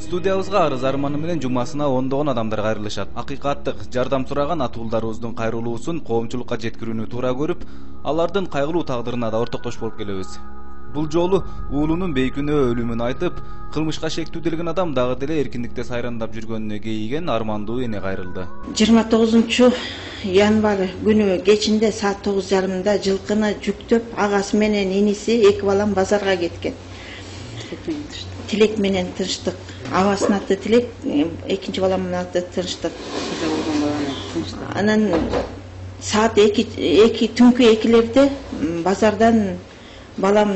Студиябызга арыз арманы менен жумасына ондогон адамдар кайрылышат. Акыйкаттык жардам сураган атуулдарыбыздын кайрылуусун коомчулукка жеткирүүнү туура көрүп, алардын кайгылуу тагдырына да ортоктош болуп келебиз. Бул жолу уулунун бейкүнөө өлүмүн айтып, кылмышка шектүүделген адам дагы деле эркиндикте сайрандап жүргөнүнө кейиген армандуу эне кайрылды. 29 январь күнү кечинде саат 9:30 жылкыны жүктөп агасы менен иниси эки балам базарга кеткен. Тилек менен Тынчтык. Абасынын аты Тилек, экинчи баламдын аты Тынчтык. Анан саат 2 түнкү 2-лерде базардан балам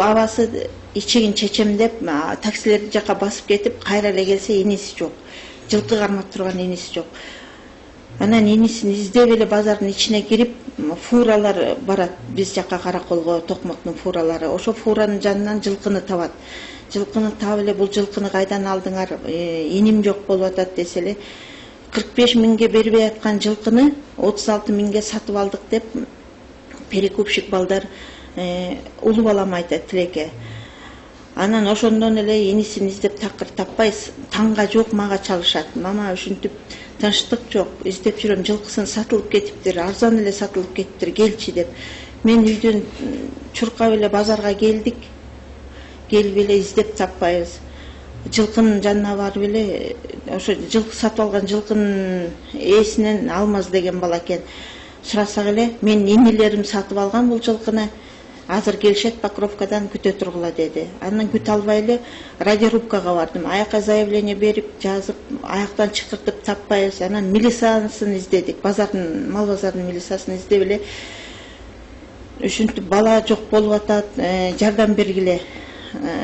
абасы ичигин чечем деп таксилерди жака басып кетип, кайра эле келсе иниси жок. Жылкы кармап турган иниси жок. Анан инисин издеп эле базардын ичине кирип, фуралар барат биз жака Караколго, Токмоктун фуралары. Ошо фуранын жанынан жылкыны табат. Жылкыны таап эле бул жылкыны кайдан алдыңар? Иним жок болуп атат десе эле 45 миңге бербей аткан жылкыны 36 миңге сатып алдык деп перекупщик балдар улуу балам айтат Тилекке. Анан ошондон эле инисин издеп такыр таппай, таңга жок мага чалышат. Мама ушинтип Тынчтык жок, издеп жүрөм, жылкысын сатылып кетиптир, арзан эле сатылып кетиптир, келчи деп. Мен үйдөн чуркап эле базарга келдик. Келип эле издеп таппайбыз. Жылкынын жанына барып эле ошо жылкы сатып алган жылкынын ээсинен Алмаз деген бала экен. Сурасак эле мен инилерим сатып алган бул жылкыны. Азыр келишет Покровкадан күтө тургула деди. Андан күтө албай эле радиорубкага бардым. Аяка заявление берип, жазып, аяктан чыкыртып таппайбыз. Анан милициясын издедик. Базардын, мал базарынын милициясын издеп эле ушинтип бала жок болуп атат, жардам бергиле.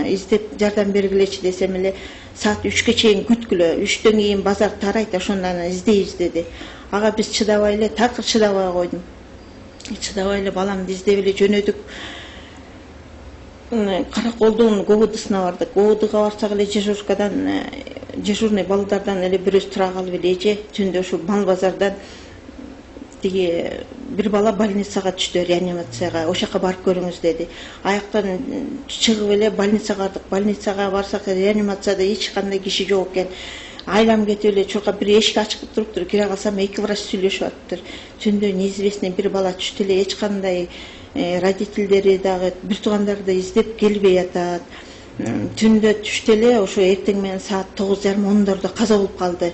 Издеп жардам бергилечи десем эле саат 3-кө чейин күткүлө. 3төн кийин базар тарайт, ошондон издейбиз деди. Ага биз чыдабай эле, такыр чыдабай койдум. Чыдабай эле баламды издеп эле жөнөдүк. Караколдун ГОВДсуна бардык. ГОВДга барсак эле дежурный балдардан эле бирөөсү тура калып эле эже түндө ушу мал базардан тиги бир бала больницага түштү, реанимацияга. Ошол жака барып көрүңүз деди. Аяктан чыгып эле больницага бардык. Больницага барсак реанимацияда эч кандай киши жок экен. Айлам кетип эле чуркап бир эшик ачык туруптур. Кире калсам эки врач сүйлөшүп атыптыр. Түндө неизвестный бир бала түштү эле, эч кандай родительдери дагы, бир туугандары да издеп келбей атат. Түндө түштү эле, ошо эртең менен саат 9:30-10-дордо каза болуп калды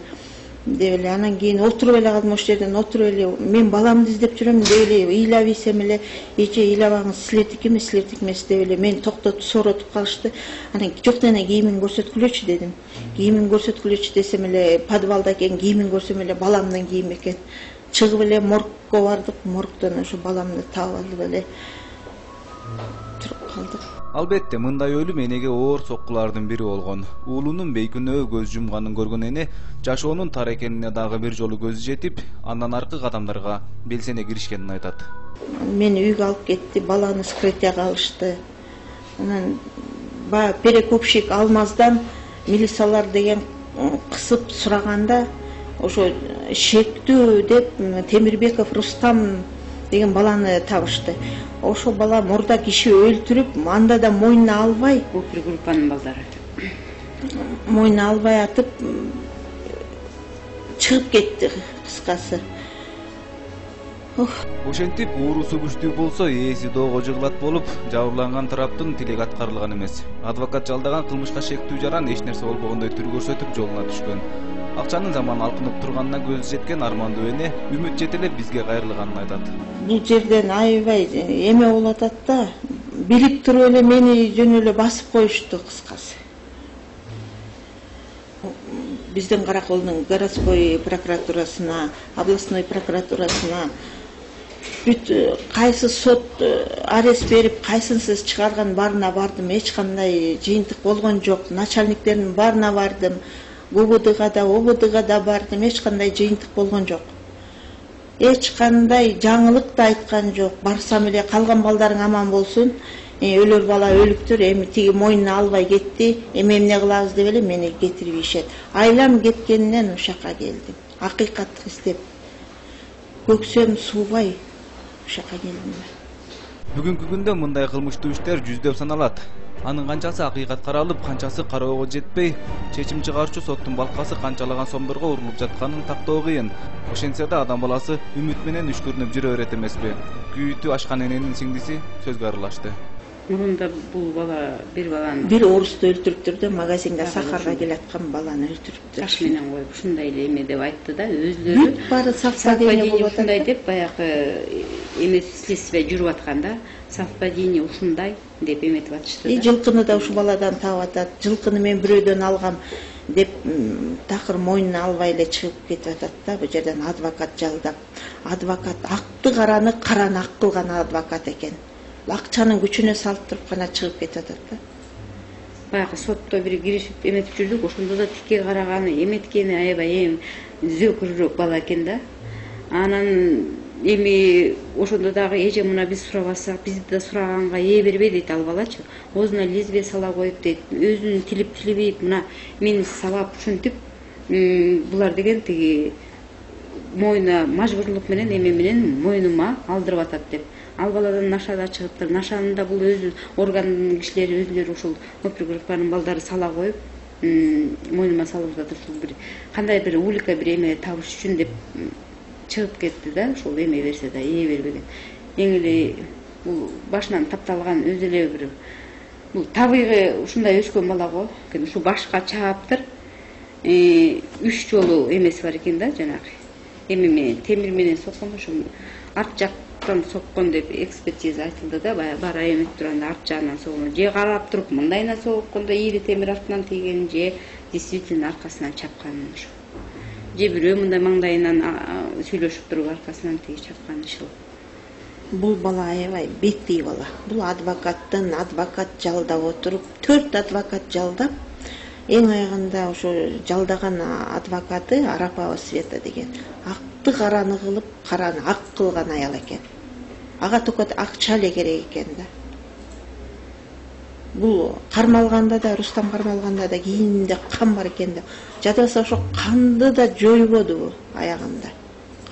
деп эле. Анан кийин отуруп эле калдым, ошол жерден отуруп эле мен баламды издеп жүрөм деп эле ыйлап ийсем эле эже ыйлабаңыз, силердики эмес деп эле мени токтотуп сооротуп калышты. Анан жок дене кийимин көрсөткүлөчү дедим. Кийимин көрсөткүлөчү десем эле подвалда экен, кийимин көрсөм эле баламдын кийими экен. Чыгып эле моргко бардык, моргдон ошо баламды таап алып эле туруп калдык. Албетте мындай өлүм энеге оор соккулардын бири болгон. Уулунун бейкүнөө көз жумганын көргөн эне жашоонун тар экенине дагы бир жолу көзү жетип, андан аркы кадамдарга белсене киришкенин айтат. Мени үйгө алып кетти, баланы скрытияга алышты. Анан перекупщик Алмаздан милициялар деген кысып сураганда ошо шектүү деп Темирбеков Рустам деген баланы табышты. Ошо бала мурда киши өлтүрүп, анда да мойнуна албай, бул бир группанын балдары. Мойнуна албай атып чыгып кетти кыскасы. Ошентип уурусу күчтүү болсо ээси доого жыгылат болуп, жабырланган тараптын тилеги аткарылган эмес. Адвокат жалдаган кылмышка шектүү жаран эч нерсе болбогондой түр көрсөтүп жолуна түшкөн. Акчанын заман алкынып турганына көзү жеткен армандуу эне үмүт жете эле бизге кайрылганын айтат. Бул жерден аябай эме болуп атат да, билип туруп эле мени жөн эле басып коюшту кыскасы. Биздин Караколдун городской прокуратурасына, областной прокуратурасына бүт кайсы сот арест берип, кайсынсыз чыгарган баарына бардым, эч кандай жыйынтык болгон жок. Начальниктердин баарына бардым. ГУВДга да, ОБДга да бардым, эч кандай жыйынтык болгон жок. Эч кандай жаңылык да айткан жок. Барсам эле калган балдарың аман болсун. Өлөр бала өлүктүр, эми тиги мойнуна албай кетти, эми эмне кылабыз деп эле мени кетирип ийишет. Айлам кеткенинен ушака келдим. Акыйкаттык издеп. Көксөм суубай ушака келдим. Бүгүнкү күндө мындай кылмыштуу иштер жүздөп саналат. Анын канчасы акыйкат каралып, канчасы кароого жетпей, чечим чыгарчу соттун балкасы канчалаган сомдорго урулуп жатканын тактоо кыйын. Ошентсе да адам баласы үмүт менен үшкүрүнүп жүрө берет эмеспи? Күйүтү ашкан эненин сиңдиси сөзгө аралашты. Мурунда бул бала бир баланы бир орусту өлтүрүптүр да, магазинге сахарга келаткан баланы өлтүрүптүр. таш менен коюп ушундай эле эме деп айтты да, өзлөрү. Бүт баары совпадение болуп атат. Ушундай деп баягы эме следствие жүрүп атканда, совпадение ушундай деп эметип атышты да. Жылкыны да ушу баладан таап атат. Жылкыны мен бирөөдөн алгам деп такыр мойнуна албай эле чыгып кетип атат да. Бул жерден адвокат жалдап, адвокат акты караны ак кылган адвокат экен. Акчанын күчүнө салып туруп гана чыгып кетип атат да. Баягы сотто бир киришип эметип жүрдүк, ошондо да тикке караганы, эметкени аябай зөөкүрөөк бала экен да. Анан эми ошондо дагы эже мына биз сурабасак, бизди да сураганга ээ бербей дейт ал балачы. Оозуна лезвие сала коюп дейт, өзүн тилип мына мени сабап ушинтип, булар деген тиги моюна мажбурлук менен эме менен мойнума алдырып атат деп. Ал баладан наша да чыгыптыр. Нашаны да бул өзү органдын кишилери өзүлөрү ушул опер группанын балдары сала коюп, мойнума салып атат. Ушул бир кандай бир улика бир эме табыш үчүн деп чыгып кетти да, ушул эме берсе да ээ бербеген. Эң эле бул башынан тапталган өзү эле бир бул табигый ушундай өскөн бала го. Ушу башка чааптыр. 3 жолу эмеси бар экен да, жанагы. Эме менен темир менен соккон, ошо арт жактан соккон деп экспертиза айтылды да, бара эметип турганда арт жагынан соккон. Же карап туруп мындайына соккондо ийри темир артынан тийген, же действительно аркасынан чапкан ошо. Же бирөө мындай маңдайынан сүйлөшүп туруп аркасынан тиги чапкан иши. Бул бала аябай беттей бала. Бул адвокат жалдап отуруп, 4 адвокат жалдап, эң аягында ошо жалдаган адвокаты Арапова Света деген акты караны кылып, караны ак кылган аял экен. Ага только акча эле керек экен да. Бул кармалганда да, Рустам кармалганда да кийининде кан бар экен да. Жадыбаса ошо канды да жойбодубу аягында.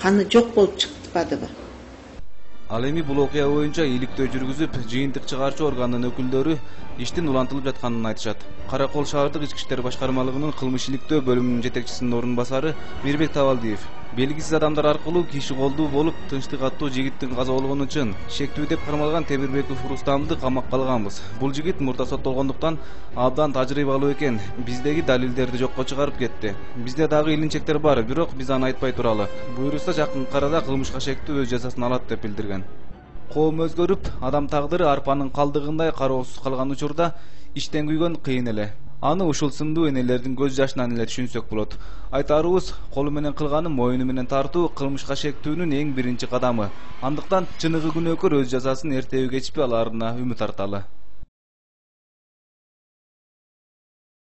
Каны жок болуп чыкпадыбы? Ал эми бул окуя боюнча иликтөө жүргүзүп, жыйынтык чыгарчу органдын өкүлдөрү иштин улантылып жатканын айтышат. Каракол шаардык ички иштер башкармалыгынын кылмыш иликтөө бөлүмүнүн жетекчисинин орун басары Мирбек Табалдиев белгисиз адамдар аркылуу киши колдуу болуп тынчтык аттуу жигиттин каза болгону үчүн шектүү деп кармалган Темирбеков Рустамды камакка алганбыз. Бул жигит мурда соттолгондуктан абдан тажрыйбалуу экен. Биздеги далилдерди жокко чыгарып кетти. Бизде дагы илинчектер бар, бирок биз аны айтпай туралы. Буюрса жакынкы арада кылмышка шектүү өз жазасын алат деп билдирген. Коом өзгөрүп, адам тагдыры арпанын калдыгындай кароосуз калган учурда иштен күйгөн кыйын эле. Аны ушул сындуу энелердин көз жашынан эле түшүнсөк болот. Айтарыбыз, колу менен кылганы моюну менен тартуу кылмышка шектүүнүн эң биринчи кадамы. Андыктан чыныгы күнөөкөр өз жазасын эртеби кечпи алаарына үмүт арталы.